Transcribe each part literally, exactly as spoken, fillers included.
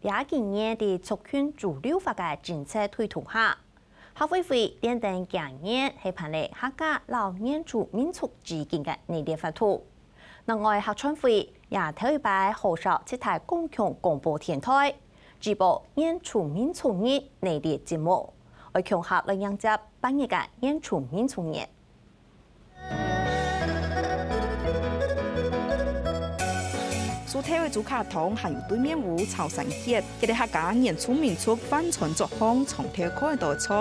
這幾年在族群主流化个政策推動下，客委會連登今年係辦理客家摎原住民族之間个系列活動。另外，客傳會也頭一擺號召七大公共廣播電台，直播原住民族日系列節目，愛共下來迎接八月个原住民族日。 樹頭个竹卡通還有對面屋、草山歇，這兜客家原住民族飯餐桌項常透看著个菜，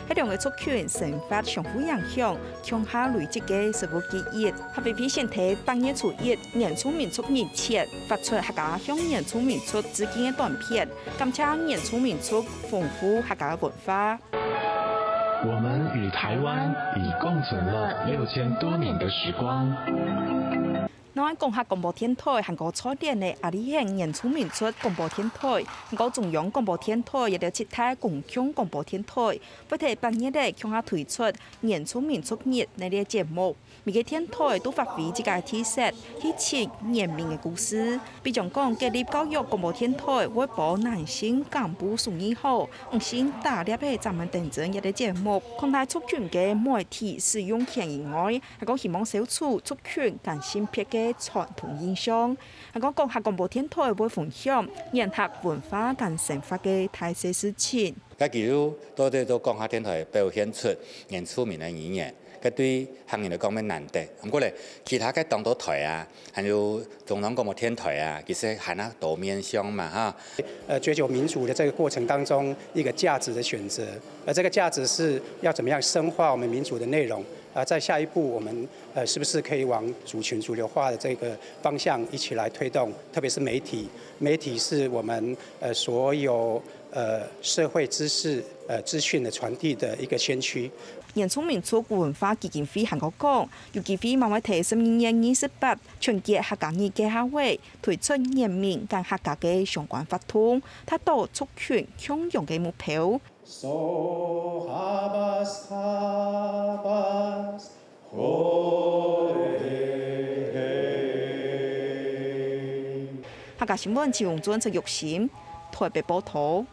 係兩個族群生活相互影響，共下累積个食物記憶。客委會選在八月初一原住民族日前，發出客家向原住民族致敬个短片，感謝原住民族豐富客家文化。我們與台灣已共存了六千多年的時光。 另外，講客廣播電台還過在地个阿里縣原住民族廣播電台，還過中央廣播電台，這兜七大公共廣播電台，會在八月仔共下推出原住民族日系列節目。每個電台都發揮自家个特色，去尋原民个故事。比將講，國立教育廣播電台會播男性幹部送你好，女性打獵个專門等陣這兜節目，擴大族群个媒體使用權以外， 還過希望消除族群間性別个傳統印象。還過講客廣播電台會分享原客文化間生活个大細事情。該記錄到底都講客電台表現出原住民个語言，該對客人來講乜難得。毋過咧，其他个當多台啊，還有中央廣播電台啊，其實還較多面向嘛哈。呃，追求民主的這個過程當中，一個價值的選擇，而這個價值是要怎麼樣深化我們民主的內容。 啊，在下一步，我們呃是不是可以往族群主流化的這個方向一起來推動？特別是媒體，媒體是我們呃所有呃社會知識呃資訊的傳遞的一個先驅。原住民族文化基金會還過講，有機會嘛會在十二月二十八春節客家日个下晡，推出原民間客家个相關活動，達到族群共融个目標。 So habas habas 客家新聞，徐永尊、陳玉心，台北報導。